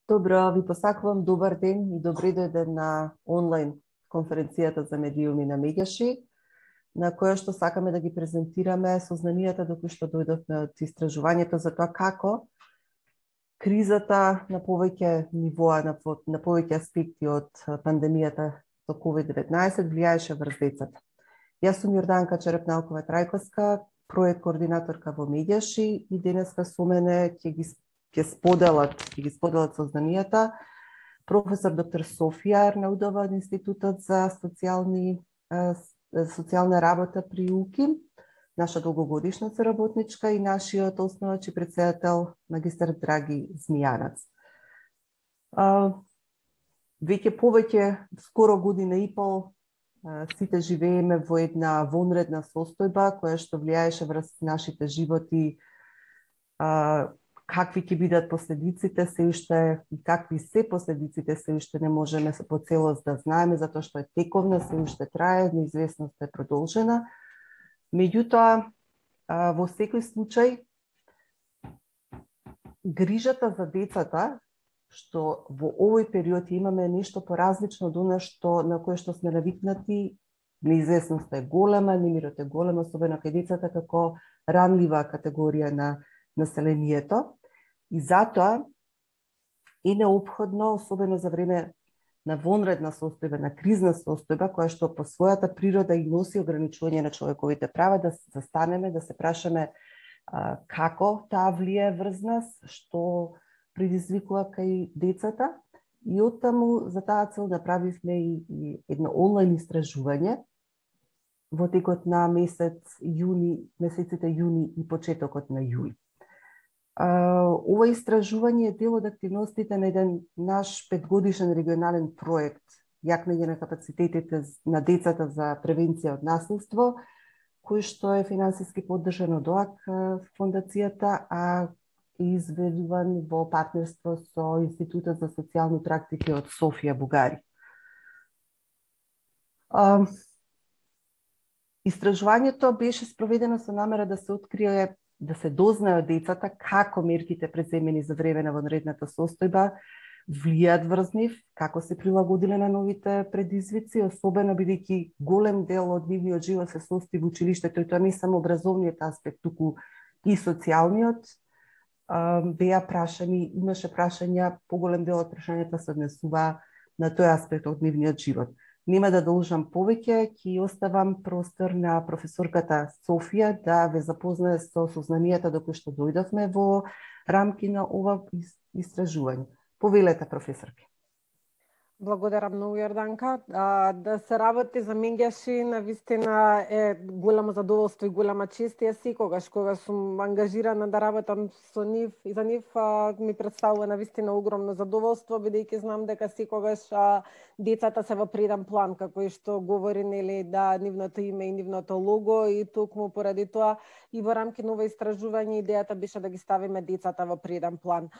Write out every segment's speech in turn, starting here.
Добро, ви посакувам добар ден и добре дојден на онлайн конференцијата за медиуми на Меѓаши, на која што сакаме да ги презентираме сознанијата до кои што дојдовме од истражувањето за тоа како кризата на повеќе нивоа, на повеќе аспекти од пандемијата со COVID-19 влијаеше врз децата. Јас сум Јорданка Черепналкова Трајковска, проект координаторка во Меѓаши и денеска со мене ќе ги споделат сознанијата професор доктор Софија Арнаудова од Институтот за социјална работа при УКИМ, наша долгогодишна соработничка и нашиот основач и претседател магистар Драги Змијанац. Веќе скоро година и пол сите живееме во една вонредна состојба која што влијаеше врз нашите животи, какви ќе бидат последиците се уште и какви се последиците се уште не можеме по целост да знаеме, затоа што е тековна, се уште трае, неизвестноста е продолжена. Меѓутоа, во секој случај, грижата за децата, што во овој период имаме нешто поразлично од она на кое што сме навикнати, неизвестноста е голема, немирот е голем, особено кај децата како ранлива категорија на населението. И затоа е неопходно, особено за време на вонредна состојба, на кризна состојба, која што по својата природа и носи ограничување на човековите права, да се застанеме, да се прашаме како таа влијае врз нас, што предизвикува кај децата. И оттаму за таа цел направивме и едно онлайн истражување во текот на месеците јуни и почетокот на јули. Ова истражување е дел од активностите на еден наш 5-годишен регионален проект јакнење на капацитетите на децата за превенција од насилство, кој што е финансиски поддржан од ОАК фондацијата, а е изведуван во партнерство со Институтот за социјални практики од Софија, Бугарија. Истражувањето беше спроведено со намера да се открие, да се дознае од децата како мерките преземени за време на вонредната состојба влијаат врз нив, како се прилагодиле на новите предизвици, особено бидејќи голем дел од нивниот живот се состои во училиштето, и тоа не само образовниот аспект, туку и социјалниот. Беа прашани, имаше прашања, поголем дел од прашањата се однесува на тој аспект од нивниот живот. Нема да должам повеќе, ќе оставам простор на професорката Софија да ве запознае со сознанијата до кои што дојдовме во рамки на ова истражување. Повелете, професорке. Благодарам многу, Јорданка. Да се работи за Меѓаши навистина е големо задоволство и голема чест. Јас секогаш кога сум ангажирана да работам со нив и за нив ми представува навистина огромно задоволство, бидејќи знам дека секогаш децата се во преден план, како и што говори да нивното име и нивното лого, и токму поради тоа и во рамки на ова истражување идејата беше да ги ставиме децата во преден план.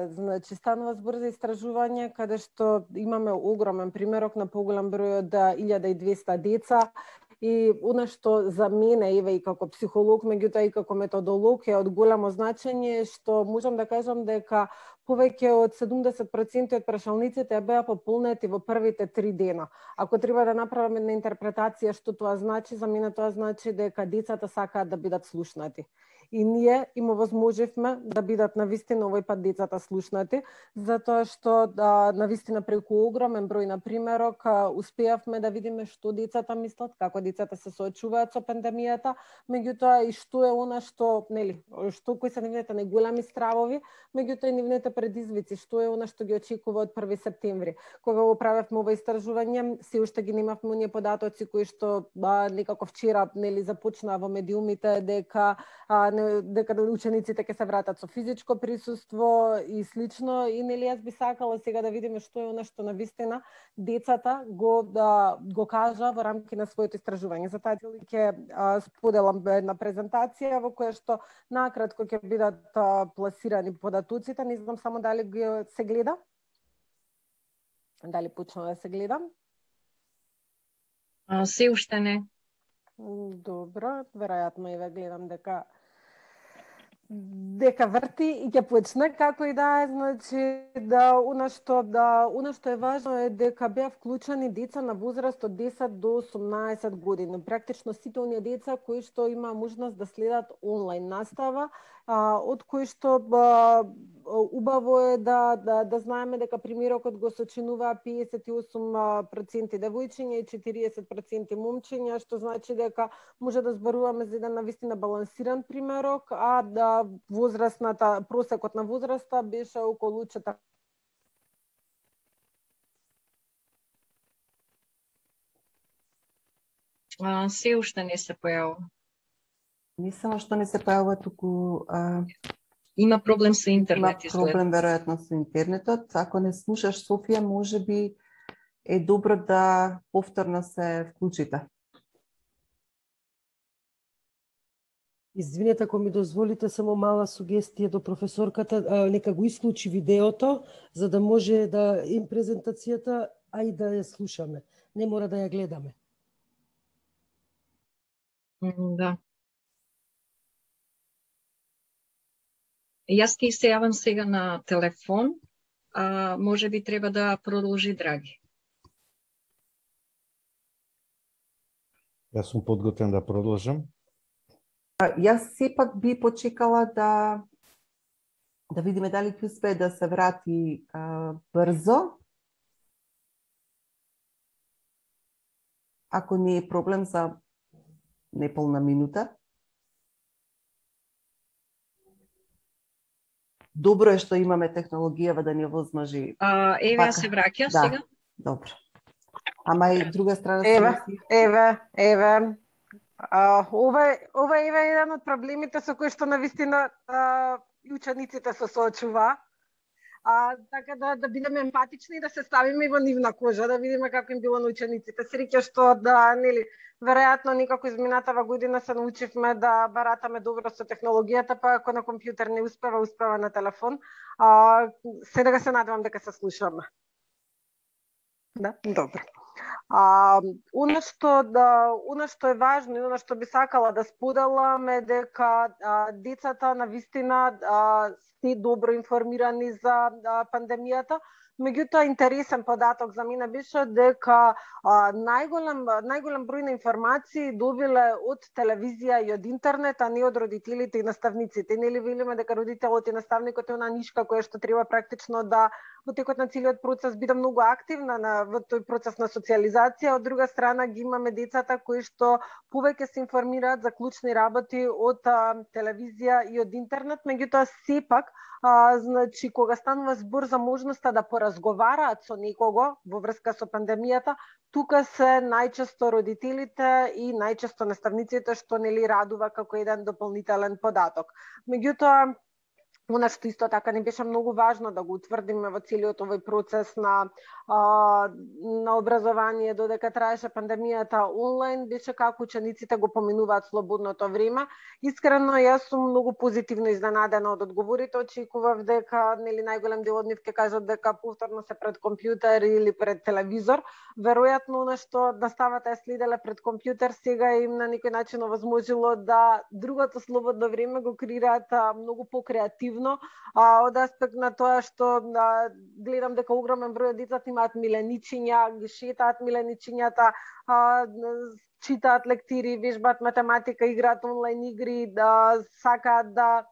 Значи станува збор за истражување каде што имаме огромен примерок на поголем број од 1200 деца, и она што за мене, еве и како психолог, меѓутоа и како методолог, е од големо значење, што можам да кажам дека повеќе од 70% од прашалниците беа пополнети во првите 3 дена. Ако треба да направиме една интерпретација што тоа значи, за мене тоа значи дека децата сакаат да бидат слушнати. И ние им овозможивме да бидат навистина овој пат децата слушнати, затоа што навистина преку огромен број на примерок успеавме да видиме што децата мислат, како децата се соочуваат со пандемијата, меѓутоа и што е она што, што кои се нивните најголеми стравови, меѓутоа и нивните предизвици, што е она што ги очекува од 1 септември. Кога го правевме ова истражување, се уште ги немавме оние податоци кои што некако вчера започнаа во медиумите дека учениците ќе се вратат со физичко присуство и слично, и јас би сакала сега да видиме што е она што навистина децата го кажа во рамки на своето истражување. За таа цел ќе споделам една презентација во која што накратко ќе бидат пласирани податоците. Не знам само дали се гледа. Дали почна да се гледа? Се уште не. Добро, веројатно и ве гледам дека дека врти и ќе почне, како и да е, значи да она што е важно е дека беа вклучени деца на возраст од 10 до 18 години. Практично сите оние деца кои што има можност да следат онлайн настава, од кои што убаво е да знаеме дека примерокот го сочинува 58% девојчиња и 40% момчиња, што значи дека може да зборуваме за еден навистина балансиран примерок, а да просекот на возраста беше околу 4. Се уште не се појавува. Не само што не се појавува, туку Има проблем со интернет. Има проблем веројатно со интернетот. Ако не слушаш Софија, можеби е добро да повторно се вклучите. Извинете, ако ми дозволите само мала сугестија до професорката, нека го исклучи видеото, за да може да им презентацијата, а и да ја слушаме. Не мора да ја гледаме. Да. Јас ќе се јавам сега на телефон, а може би треба да продолжи Драги. Јас сум подготвен да продолжам. Јас сепак би почекала да видиме дали ќе успее да се врати брзо. Ако не е проблем за неполна минута. Добро е што имаме технологија да ни овозможи. Еве се враќа сега. Добро. Ама и друга страна Еве. Ова е еден од проблемите со кои што навистина и учениците се соочува. Така да бидеме емпатични и да се ставиме во нивна кожа, да видиме како им било на учениците. Среќа што веројатно никако изминатава година се научивме да баратаме добро со технологијата, па ако на компјутер не успева на телефон. Сега се надевам дека се слушаме. Да, добро. Она што е важно и она што би сакала да споделам е дека децата навистина се добро информирани за пандемијата. Меѓутоа, интересен податок за мене беше дека најголем број на информации добиле од телевизија и од интернет, а не од родителите и наставниците. Нели велиме дека родителот и наставникот е она нишка која што треба практично да во текот на целиот процес биде многу активна во тој процес на социализација. Од друга страна ги имаме децата кои што повеќе се информираат за клучни работи од телевизија и од интернет, меѓутоа сепак значи кога станува збор за можноста да поразговараат со некого во врска со пандемијата, тука се најчесто родителите и најчесто наставниците, што нели радува како еден дополнителен податок. Меѓутоа, она што исто така не беше многу важно да го утврдиме во целиот овој процес на образование додека траеше пандемијата онлайн, беше како учениците го поминуваат слободното време. Искрено, јас сум многу позитивно изненадена од одговорите. Очекував дека најголем дел од нив ќе кажат дека повторно се пред компјутер или пред телевизор. Веројатно, она што наставата е следеле пред компјутер, сега им на некој начин овозможило да другото слободно време го креираат многу покреативно, од аспект на тоа што гледам дека огромен број од децата имаат миленичиња, ги шетаат миленичињата, читаат лектири, вежбаат математика, играат онлайн игри, сакаат да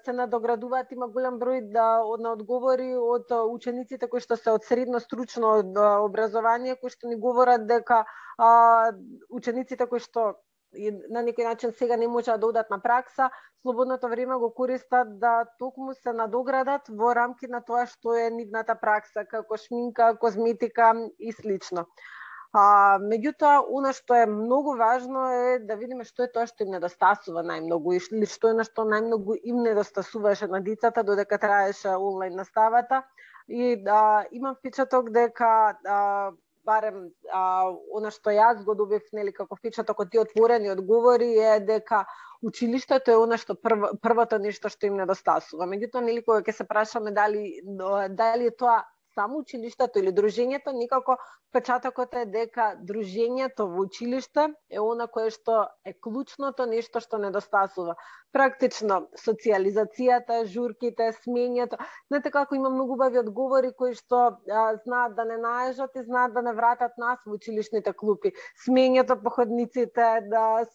се надоградуваат. Има голем број на одговори од учениците кои што се од средно стручно образование, кои што ни говорат дека учениците кои што на некој начин сега не можат да одат на пракса, слободното време го користат да токму се надоградат во рамки на тоа што е нивната пракса, како шминка, козметика и слично. Меѓутоа, она што е многу важно е да видиме што е тоа што им недостасува најмногу или што е на што најмногу им недостасуваше на децата додека траеше онлайн наставата. И имам впечаток дека барем она што јас го добив како впечаток од тие отворени одговори е дека училиштето е она што првото нешто што им недостасува. Меѓутоа, кога ќе се прашаме дали е тоа само училиштето или дружењето, никако впечатокот е дека дружењето во училиште е она кое што е клучното нешто што недостасува. Практично социјализацијата, журките, смењето. Знаете како има многу убави одговори кои што знаат да не наежат и знаат да не вратат нас во училишните клупи. Смењето по ходниците, да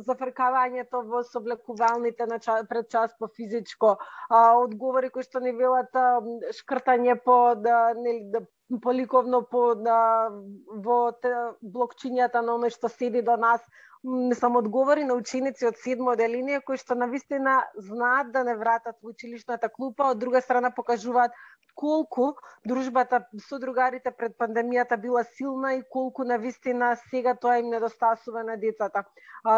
зафркавањето во соблекувалните пред час по физичко, одговори кои што ни велат шкртање по по ликовно во блокчињата на оној што седи до нас. Не сам одговори на ученици од 7 оделение кои што навистина знаат да не вратат во училишната клупа, од друга страна покажуваат колку дружбата со другарите пред пандемијата била силна и колку навистина сега тоа им недостасува на децата.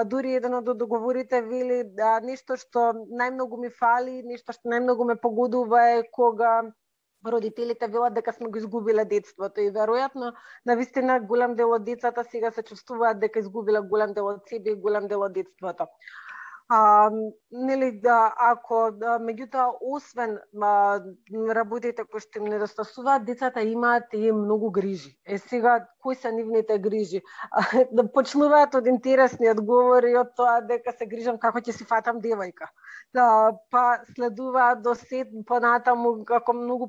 Дури еден од договорите вели нешто што најмногу ми фали, нешто што најмногу ме погодува е кога родителите велат дека сме го изгубиле детството и веројатно навистина голем дел од децата сега се чувствуваат дека изгубиле голем дел од себе и голем дел од детството. Ако меѓутоа освен работите кои што им недостасуваат, децата имаат и многу грижи. Сега кои се нивните грижи? Да почнуваат од интересни одговори од тоа дека се грижам како ќе си фатам девојка. Па следуваат до сет понатаму како многу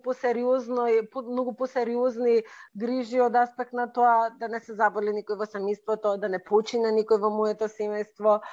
посериозни грижи од аспект на тоа да не се заболи никој во семејството, да не почине никој во моето семејство,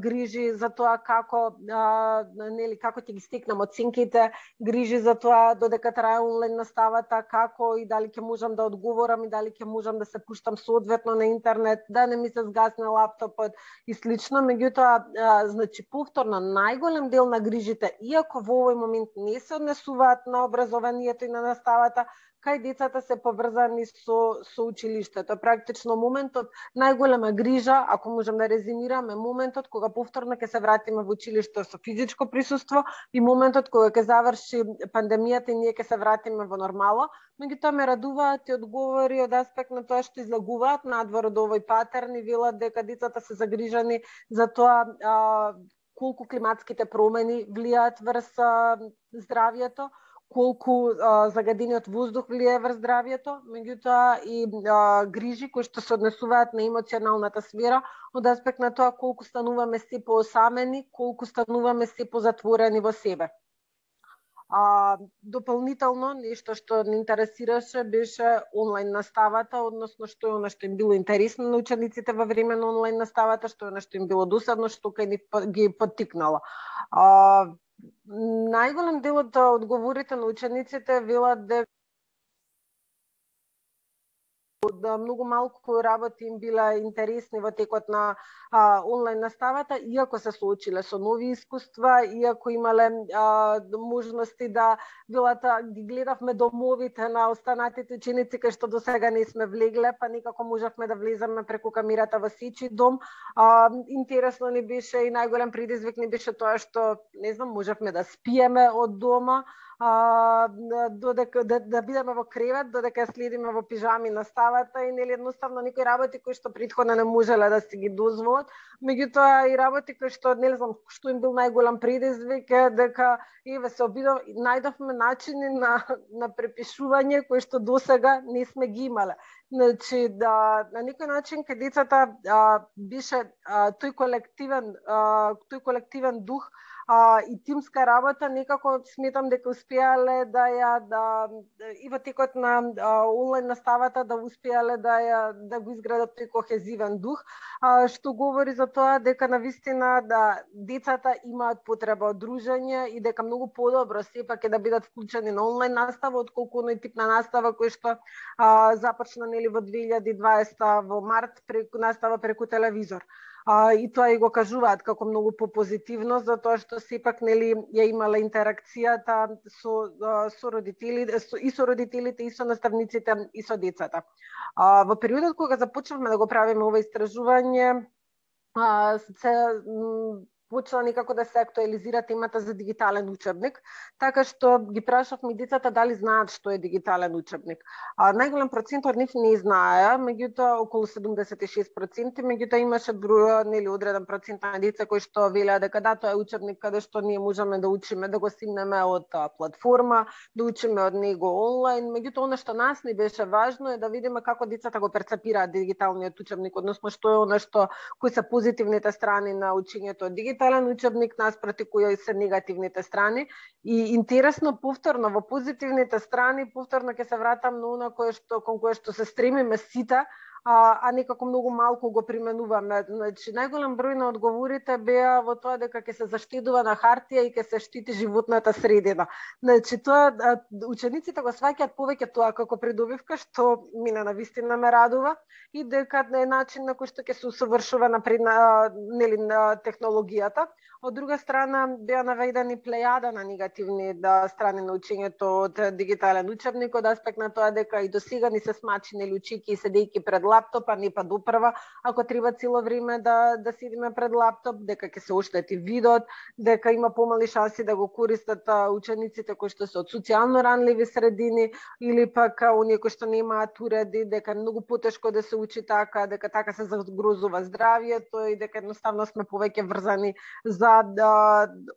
грижи за тоа како ќе ги стекнам оценките, грижи за тоа додека трае онлайн наставата, како и дали ќе можам да одговорам и дали ќе можам да се пуштам соодветно на интернет, да не ми се згасне лаптопот и слично. Меѓутоа, значи повторно најголем дел на грижите, иако во овој момент не се однесуваат на образованието и на наставата, кај децата се поврзани со училиштето. Практично моментот најголема грижа, ако можам да резимирам, е моментот кога повторно ќе се вратиме во училиште со физичко присуство и моментот кога ќе заврши пандемијата и ние ќе се вратиме во нормала. Меѓутоа ме радуваат и одговори од аспект на тоа што излагуваат надвор од овој патерн и велат дека децата се загрижани за тоа колку климатските промени влијаат врз здравјето, колку загадениот воздух влијае врз здравјето, меѓутоа и грижи кои што се однесуваат на емоционалната сфера од аспект на тоа колку стануваме се поосамени, колку стануваме се позатворени во себе. Дополнително, нешто што не интересираше беше онлайн наставата, односно што е она што им било интересно на учениците во време на онлайн наставата, што е она што им било досадно, што ги поттикнало. Најголем дел од одговорите на учениците велат дека многу малку работи им биле интересни во текот на онлайн наставата, иако се соочиле со нови искуства, иако имале можности да велат ги гледавме домовите на останатите ученици кај што досега не сме влегле, па некако можевме да влеземе преку камерата во сечи дом. Интересно ни беше и најголем предизвик ни беше тоа што, не знам, можевме да спиеме од дома, додека да бидеме во кревет, додека следиме во пижами наставата и едноставно некои работи кои што претходно не можеле да си ги дозволат, меѓутоа и работи кои што не знам што им бил најголем предизвик е дека најдовме начини на препишување кои што досега не сме ги имале. Значи да на некој начин кај децата беше тој колективен дух и тимска работа, некако сметам дека успеале и во текот на онлайн наставата да успеале да го изградат тој кохезивен дух, што говори за тоа дека навистина децата имаат потреба од дружење и дека многу подобро сепак е да бидат вклучени на онлайн настава отколку оној тип на настава кој што започна во 2020 во март настава преку телевизор. И тоа и го кажуваат како многу попозитивно, затоа што сепак ја имала интеракцијата со родителите и со наставниците и со децата. Во периодот кога започнавме да го правиме ова истражување, почна некако да се актуализира темата за дигитален учебник, така што ги прашавме децата дали знаат што е дигитален учебник. Најголем процент од нив не знаеа, меѓутоа околу 76%, меѓутоа имаше одреден процент на деца кои што велеа дека да, тоа е учебник каде што ние можеме да учиме, да го симнеме од платформа, да учиме од него онлайн. Меѓутоа она што нас ни беше важно е да видиме како децата го перцепираат дигиталниот учебник, односно што е она што кои се позитивните страни на учењето од дигитален учебник, наспроти кои се негативните страни. И интересно, повторно во позитивните страни, повторно ќе се вратам на она кон кое што се стремиме сите, а некако многу малку го применуваме. Значи, најголем број на одговорите беа во тоа дека ќе се заштедува на хартија и ќе се штити животната средина. Значи, тоа учениците го сваќаат повеќе тоа како придобивка, што мене навистина ме радува, и дека е начин на кој што ќе се усовршува на технологијата. Од друга страна, беа наведени плејада на негативни страни на учењето од дигитален учебник, од аспект на тоа дека и досега ни се смачи очики седејќи пред лаптоп, а не па допрва, ако треба цело време да седиме пред лаптоп, дека ќе се оштети видот, дека има помали шанси да го користат учениците кои што се од социјално ранливи средини или пак оние кои што немаат уреди, дека е многу потешко да се учи така, дека така се загрозува здравјето и дека едноставно сме повеќе врзани за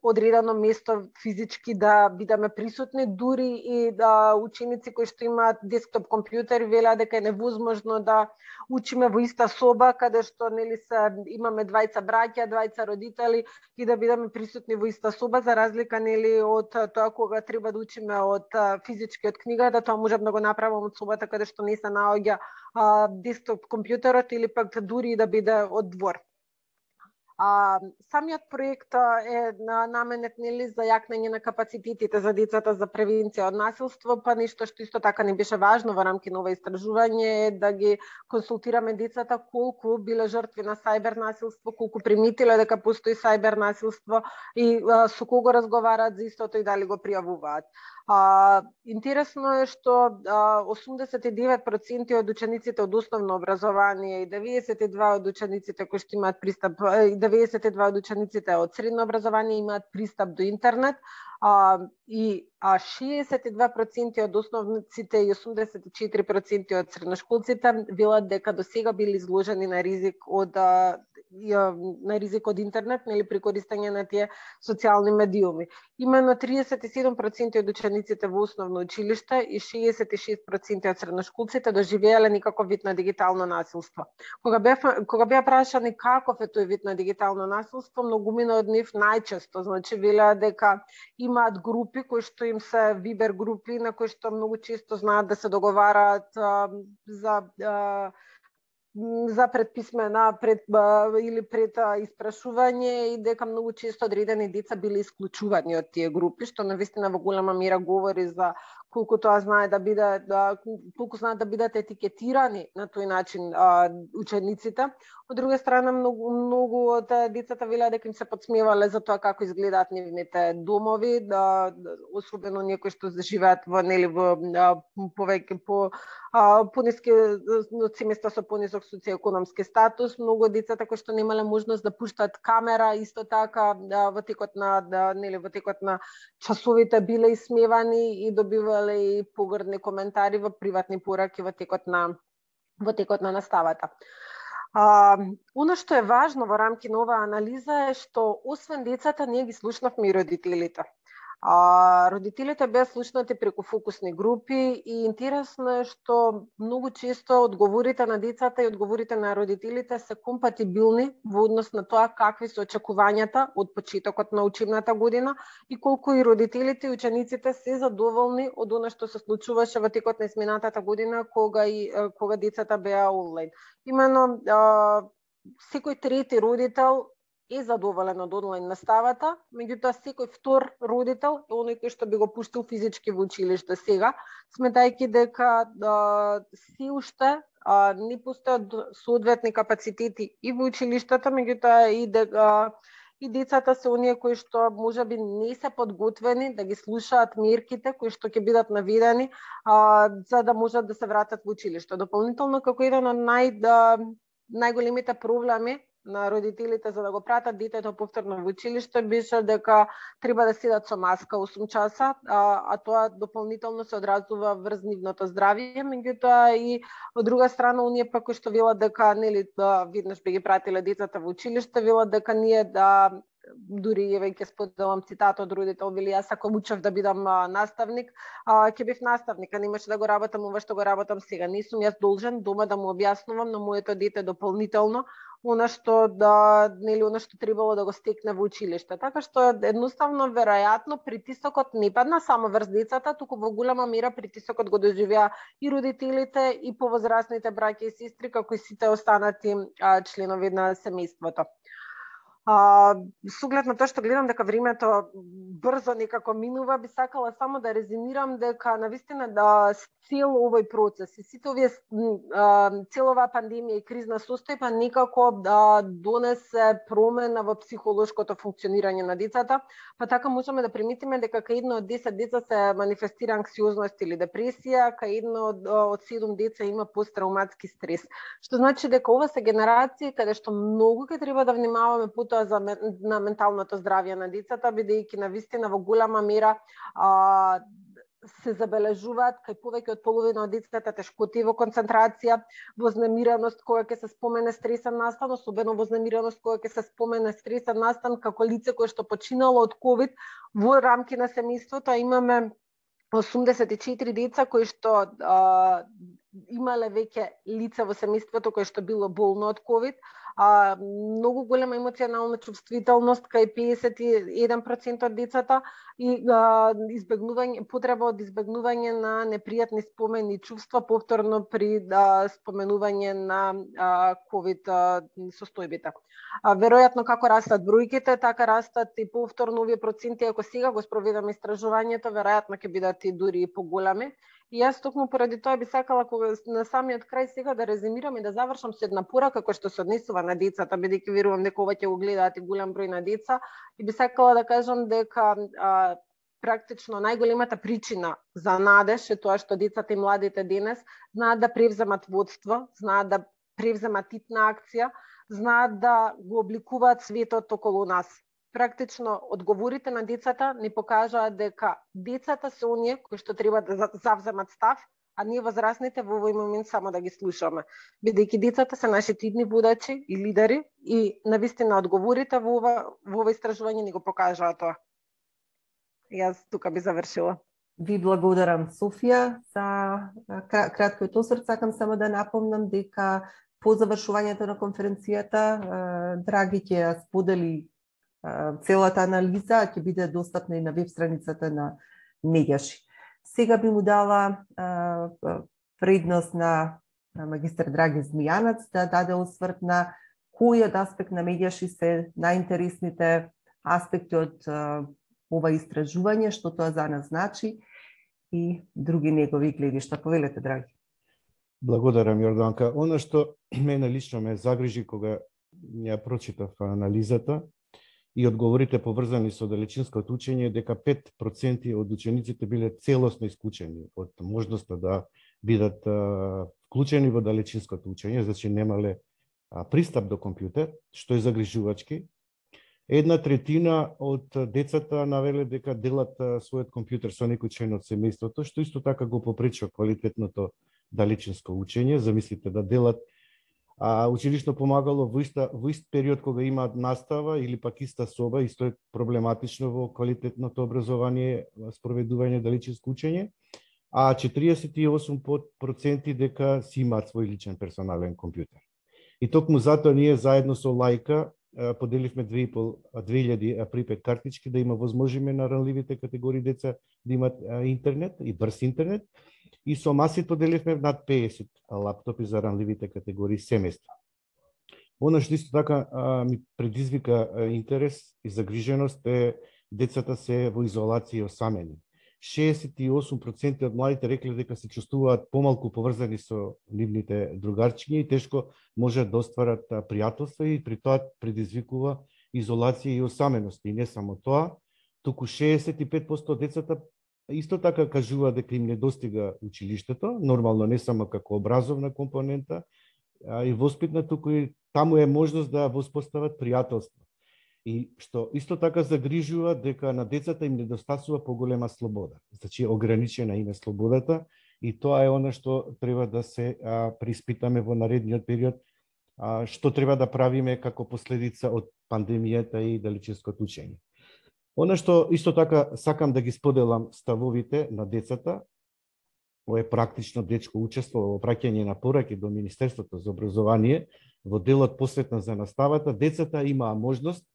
одредено место физички да бидеме присутни, дури и ученици кои што имаат десктоп компјутери велеа дека е невозможно да учиме во иста соба каде што имаме двајца браќа, двајца родители и да бидеме присутни во иста соба, за разлика од тоа кога треба да учиме од физички од книгата, тоа можам да го направам од собата каде што не се наоѓа десктоп компјутерот или пак дури да биде од двор. Самиот проект е наменет за јакнење на капацитетите за децата за превенција од насилство, па нешто што исто така не беше важно во рамки на ова истражување е да ги консултираме децата колку биле жртви на сајбер насилство, колку приметиле дека постои сајбер насилство и со кого разговараат за истото и дали го пријавуваат. Интересно е што 89% од учениците од основно образование и 92% од учениците кои што имаат пристап, 92% од учениците од средно образование имаат пристап до интернет, и 62% од основниците и 84% од средношколците велат дека досега били изложени на ризик од интернет или при користење на тие социјални медиуми. Имено 37% од учениците во основно училиште и 66% од средношколците доживеале некаков вид на дигитално насилство. Кога беа прашани каков е тој вид на дигитално насилство, многумина од нив најчесто велеа дека имаат групи кои што им се вибер групи на кои што многу често знаат да се договараат за предписмена или пред испрашување и дека многу често одредени деца биле исклучувани од тие групи, што навистина во голема мера говори за колку тоа знае да биде, колку знаат да бидат етикетирани на тој начин учениците. Од друга страна, многу од децата велеа дека им се подсмевале за тоа како изгледаат нивните домови, особено оние кои што живеат во повеќе по ниски семејства со понисок социјоекономски статус. Многу децата кои што немале можност да пуштат камера, исто така во текот на часовите биле исмевани и добивале и погрдни коментари во приватни пораки во текот на наставата. Оно што е важно во рамки на оваа анализа е што освен децата ние ги слушнавме и родителите. Родителите беа слушнати преку фокусни групи и интересно е што многу често одговорите на децата и одговорите на родителите се компатибилни во однос на тоа какви се очекувањата од почетокот на учебната година и колку и родителите и учениците се задоволни од она што се случуваше во текот на изминатата година кога децата беа онлайн. Имено секој трети родител е задоволен од онлайн наставата, меѓутоа секој втор родител е оној кој што би го пуштил физички во училиште сега, сметајќи дека се уште не постојат соодветни капацитети и во училиштата, меѓутоа и децата се оние кои што можеби не се подготвени да ги слушаат мерките кои што ќе бидат наведени за да можат да се вратат во училиште. Дополнително, како еден од најголемите проблеми на родителите за да го пратат детето повторно во училиште беше дека треба да седат со маска 8 часа, а тоа дополнително се одразува врз нивното здравје, меѓутоа и од друга страна оние пак кои што велат дека нели веднаш би ги пратиле децата во училиште, велат дека ние дури еве ќе споделам цитат од родител, вели јас ако учев да бидам наставник, ќе бев наставник, а немаше да го работам ова што го работам сега. Не сум јас должен дома да му објаснувам на моето дете дополнително она што она што требало да го стекне во училиште. Така што едноставно веројатно притисокот не падна само врз децата, туку во голема мера притисокот го доживеа и родителите и повозрасните браќа и сестри, како и сите останати членови на семејството. С оглед на тоа што гледам дека времето брзо некако минува, би сакала само да резимирам дека навистина цел овој процес и сите овие цела оваа пандемија и кризна состојба некако донесе промена во психолошкото функционирање на децата, па така можеме да приметиме дека кај едно од 10 деца се манифестира анксиозност или депресија, кај едно од 7 деца има посттрауматски стрес. Што значи дека ова се генерации каде што многу ќе треба да внимаваме на менталното здравје на децата, бидејќи навистина во голема мера се забележуваат кај повеќе од половина од децата тешкоти во концентрација, вознемираност кога ќе се спомене стресен настан, особено вознемираност кога ќе се спомене стресен настан како лице кое што починало од ковид во рамки на семејството, а имаме 84 деца кои што имале веќе лице во семејството кое што било болно од ковид, многу голема емоционална чувствителност кај 51% од децата и потреба од избегнување на непријатни спомени и чувства повторно при споменување на ковид состојбите. Веројатно како растат бројките, така растат и повторно овие проценти, ако сега го спроведаме истражувањето, веројатно ќе бидат и дури и поголеми. И јас токму поради тоа би сакала кога на самиот крај сега да резимирам и да завршам со една порака која што се однесува на децата, бидејќи верувам дека ова ќе го гледаат и голем број на деца, и би сакала да кажам дека практично најголемата причина за надеж е тоа што децата и младите денес знаат да превземат водство, знаат да превземат типна акција, знаат да го обликуваат светот околу нас. Практично одговорите на децата ни покажаат дека децата се оние кои што треба да завземат став, а ние возрастните во овој момент само да ги слушаме. Бидејќи децата се нашите идни водачи и лидери и навистина одговорите во ова истражување ни го покажаат тоа. Јас тука би завршила. Ви благодарам, Софија, за краткиот осврт. Сакам само да напомнам дека по завршувањето на конференцијата Драги ќе ја сподели целата анализа, ќе биде достапна и на веб страницата на Медјаши. Сега би му дала предност на магистар Драги Змијанац да даде осврт на кој од аспект на Медјаши се најинтересните аспекти од ова истражување, што тоа за нас значи и други негови гледишта. Повелете, Драги. Благодарам, Јорданка. Она што мене лично ме загрижи кога ја прочитав анализата и одговорите поврзани со далечинското учење, дека 5% од учениците биле целосно исклучени од можноста да бидат вклучени во далечинското учење, значи немале пристап до компјутер, што е загрижувачки. 1/3 од децата навеле дека делат својот компјутер со некој член од семејството, што исто така го попречува квалитетното далечинско учење. Замислите да делат училишно помагало во ист период кога има настава или пак иста соба, исто е проблематично во квалитетното образование, спроведување далечинско учење, а 48% дека си имаат свој личен персонален компјутер. И токму затоа ние заедно со Лајка поделивме 2000 припет картички да има возможиме на ранливите категории деца да имат интернет и брз интернет, и со Масит поделивме над 50 лаптопи за ранливите категории семејства. Оно што исто така ми предизвика интерес и загриженост е децата се во изолација и осамени. 68% од младите рекле дека се чувствуваат помалку поврзани со нивните другарчиња и тешко можат да остварат пријателства, и при тоа предизвикува изолација и осаменост. И не само тоа, туку 65% од децата исто така кажува дека им недостига училиштето, нормално не само како образовна компонента и воспитна, туку и таму е можност да воспостават пријателство. И што исто така загрижува дека на децата им недостасува поголема слобода. Значи ограничена им е слободата и тоа е она што треба да се преиспитаме во наредниот период, што треба да правиме како последица од пандемијата и далечинското учење. Она што исто така сакам да ги споделам ставовите на децата, ова е практично дечко учество во праќање на пораки до Министерството за образование во делот посветен за наставата. Децата имаа можност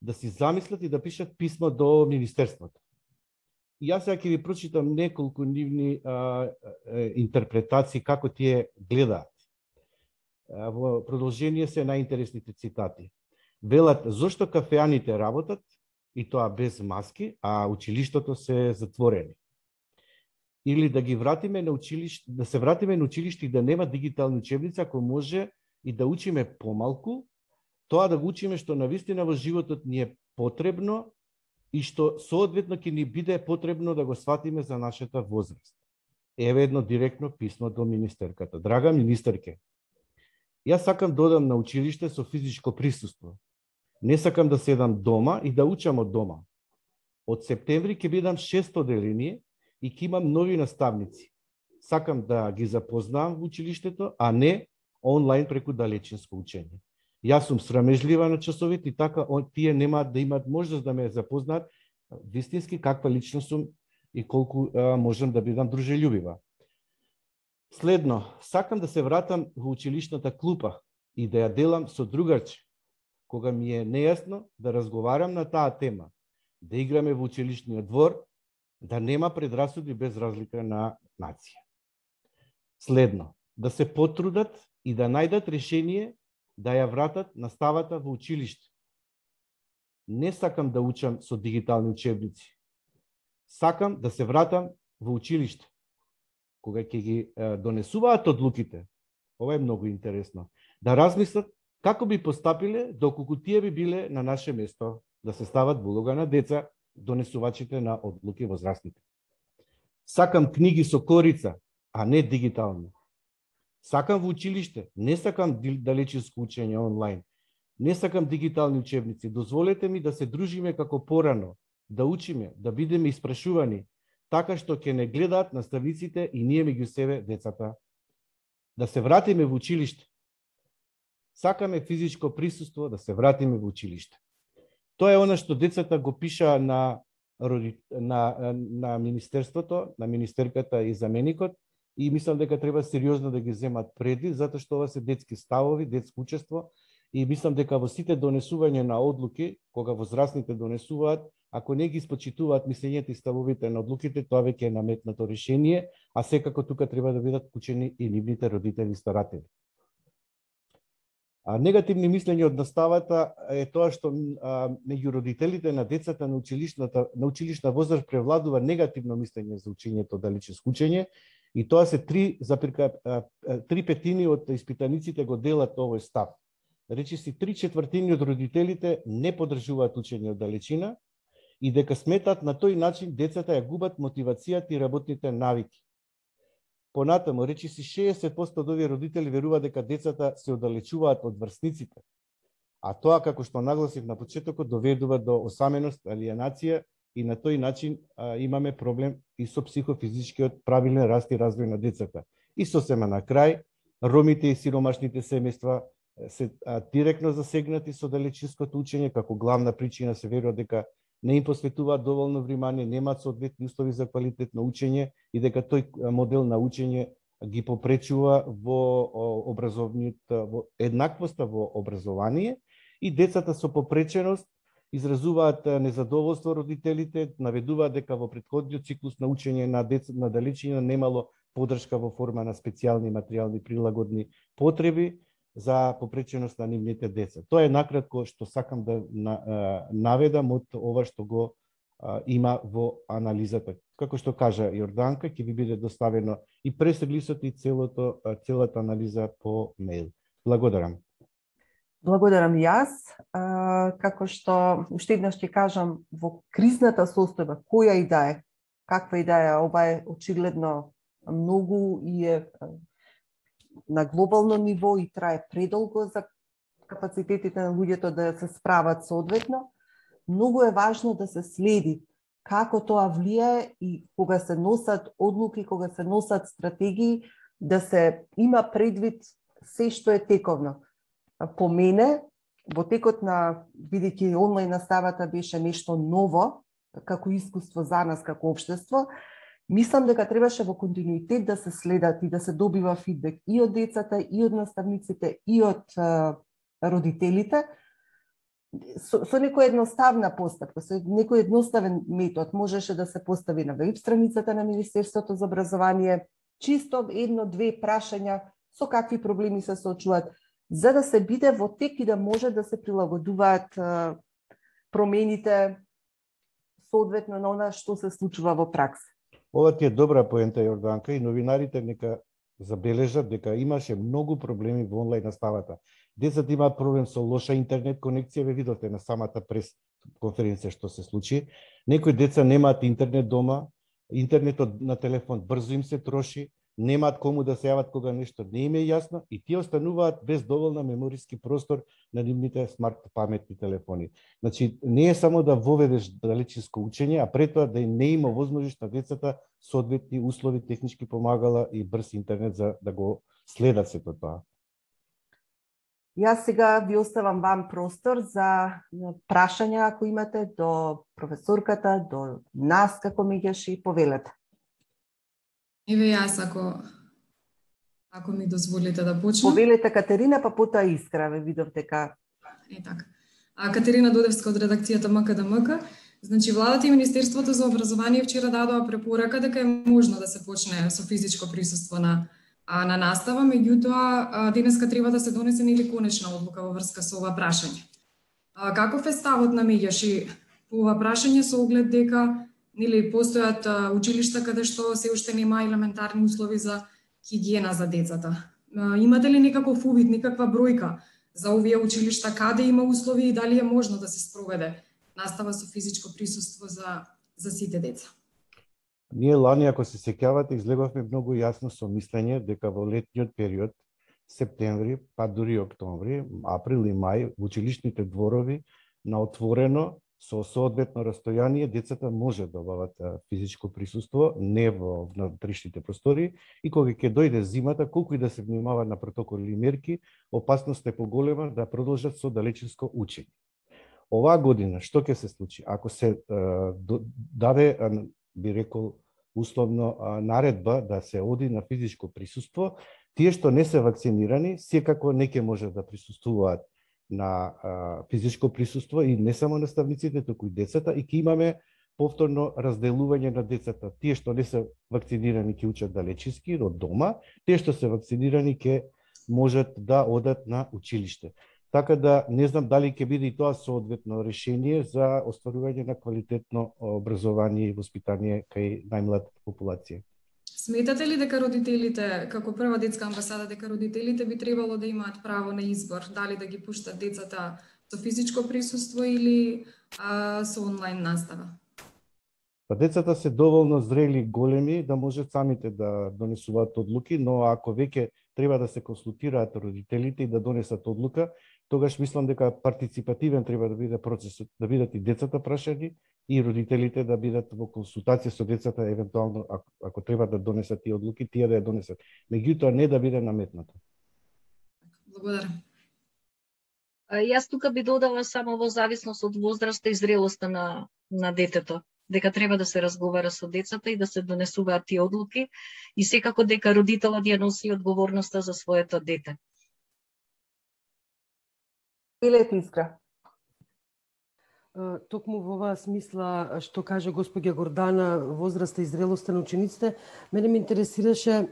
да си замислат и да пишат писмо до Министерството. И јас сега ќе ви прочитам неколку нивни интерпретации како тие гледаат. Во продолжение се најинтересните цитати. Велат, зошто кафеаните работат и тоа без маски, а училиштото се затворени. Или да ги вратиме на училиште, да се вратиме на училиште и да нема дигитални учебници, ако може и да учиме помалку, тоа да го учиме што навистина во животот ни е потребно и што соодветно ќе ни биде потребно да го сватиме за нашата возраст. Еве едно директно писмо до министерката. Драга министерке, јас сакам да одам на училиште со физичко присуство. Не сакам да седам дома и да учам од дома. Од септември ќе бидам 6 оделение и ќе имам нови наставници. Сакам да ги запознавам во училиштето, а не онлайн преку далечинско учење. Јас сум срамежлива на часовите и така тие немаат да имаат можност да ме запознаат вистински каква личност сум и колку можам да бидам дружелюбива. Следно, сакам да се вратам во училишната клупа и да ја делам со другарче, кога ми е нејасно да разговарам на таа тема, да играме во училишниот двор, да нема предрасуди без разлика на нација. Следно, да се потрудат и да најдат решение да ја вратат наставата во училиште. Не сакам да учам со дигитални учебници. Сакам да се вратам во училиште. Кога ќе ги донесуваат одлуките, ова е многу интересно, да размислат како би постапиле доколку тие би биле на наше место, да се стават во улога на деца, донесувачите на одлуки возрастните. Сакам книги со корица, а не дигитални. Сакам во училиште, не сакам далечинско учење онлайн. Не сакам дигитални учебници. Дозволете ми да се дружиме како порано, да учиме, да бидеме испрашувани, така што ќе не гледаат наставниците и ние меѓу себе децата. Да се вратиме во училиште. Сакаме физичко присуство, да се вратиме во училиште. Тоа е она што децата го пиша на Министерството, на министерката и заменикот, и мислам дека треба сериозно да ги земат преди, затоа што ова се детски ставови, детско учество, и мислам дека во сите донесување на одлуки, кога возрастните донесуваат, ако не ги спочитуваат мислењето и ставовите на одлуките, тоа веќе е наметнато решение, а секако тука треба да бидат вклучени и нивните родители и старатели. Негативни мислења од наставата е тоа што меѓу родителите на децата на училишна возраст превладува негативно мислење за учењето далечинско учење, и тоа се 3/5 од испитаниците го делат овој став. Речиси 3/4 од родителите не поддржуваат учење од далечина и дека сметат на тој начин децата ја губат мотивацијата и работните навики. Понатаму, речиси 60% од овие родители веруваат дека децата се оддалечуваат од врсниците, а тоа, како што нагласив на почетокот, доведува до осаменост, алиенација и на тој начин имаме проблем и со психофизичкиот правилен раст и развој на децата. И сосема на крај, ромите и сиромашните семејства се директно засегнати со далечинското учење, како главна причина се верува дека не им посветуваат доволно внимание, немаат соодветни услови за квалитетно учење и дека тој модел на учење ги попречува во во еднаквоста во образование, и децата со попреченост изразуваат незадоволство родителите, наведуваат дека во претходниот циклус на учење на далечина немало поддршка во форма на специјални материјални прилагодни потреби за попреченост на нивните деца. Тоа е накратко што сакам да наведам од ова што го има во анализата. Како што кажа Јорданка, ќе ви биде доставено и прес-релисот и целата анализа по мејл. Благодарам. Благодарам јас. Како што уште еднаш ќе кажам, во кризната состојба, која и да е, каква и да е, ова е очигледно многу и е на глобално ниво и трае предолго за капацитетите на луѓето да се справат соодветно. Многу е важно да се следи како тоа влијае и кога се носат одлуки, кога се носат стратегии, да се има предвид се што е тековно. По мене, во текот на, бидејќи онлайн наставата беше нешто ново, како искуство за нас, како општество, мислам дека требаше во континуитет да се следат и да се добива фидбек и од децата, и од наставниците, и од родителите, со некоја едноставна постапка, со некој едноставен метод можеше да се постави на веб страницата на Министерството за образование, чисто едно-две прашања со какви проблеми се соочуваат, за да се биде во тек и да може да се прилагодуваат промените соодветно на она што се случува во пракса. Ова ти е добра поента, Јорданка, и новинарите нека забележат дека имаше многу проблеми во онлайн наставата. Децата имаат проблем со лоша интернет конекција, ве видовте на самата прес конференција што се случи. Некои деца немаат интернет дома, интернетот на телефон брзо им се троши, немаат кому да се јават кога нешто не им е јасно и тие остануваат без доволна мемориски простор на нивните смарт паметни телефони. Значи, не е само да воведеш далечинско учење, а пред тоа да не има возможност на децата соодветни услови, технички помагала и брз интернет за да го следат сето тоа. Јас сега ви оставам вам простор за прашања ако имате до професорката, до нас како меѓаши, повелете. Еве јас, ако ми дозволите да почнам. Повелете Катерина, па потоа Искра, ве видов дека. Така. Катерина Додевска од редакцијата МКДМК. Значи, владата и Министерството за образование вчера дадоа препорака дека е можно да се почне со физичко присуство на настава, меѓутоа денеска треба да се донесе нели конечна одлука во врска со ова прашање. Каков е ставот на меѓаши по ова прашање со оглед дека нели постојат училишта каде што се уште нема елементарни услови за хигиена за децата? Имате ли некаков увид, некаква бројка за овие училишта, каде има услови и дали е можно да се спроведе настава со физичко присуство за сите деца? Ние лани, ако се сеќавате, излеговме многу јасно со мислење дека во летниот период, септември, па дури октомври, април и мај, во училишните дворови на отворено со соодветно растојание децата може да обават физичко присуство, не во внатрешните простори, и кога ќе дојде зимата, колку и да се внимава на протоколи и мерки, опасноста е поголема да продолжат со далечинско учење. Оваа година што ќе се случи? Ако се даде, би рекол, условно наредба да се оди на физичко присуство, тие што не се вакцинирани, секако не ќе може да присуствуваат на физичко присуство и не само наставниците, туку и децата, и ќе имаме повторно разделување на децата. Тие што не се вакцинирани ќе учат далечински од дома, тие што се вакцинирани ќе можат да одат на училиште. Така да не знам дали ќе биде и тоа соодветно решение за остварување на квалитетно образование и воспитание кај најмлад популација. Сметате ли дека родителите, како прва детска амбасада, дека родителите би требало да имаат право на избор, дали да ги пуштат децата со физичко присуство или со онлайн настава? Па децата се доволно зрели, големи, да можат самите да донесуваат одлуки, но ако веќе треба да се консултираат родителите и да донесат одлука, тогаш мислам дека партиципативен треба да биде процесот, да бидат и децата прашани и родителите да бидат во консултација со децата, евентуално ако треба да донесат тие одлуки, тие да ја донесат. Меѓутоа не да биде наметнато. Благодарам. Јас тука би додала само во зависност од возраста и зрелоста на детето, дека треба да се разговара со децата и да се донесуваат тие одлуки и секако дека родителот ја носи одговорноста за своето дете. Илете Искра. Токму во оваа смисла што каже господја Гордана, возраста и зрелоста на учениците, мене ме интересираше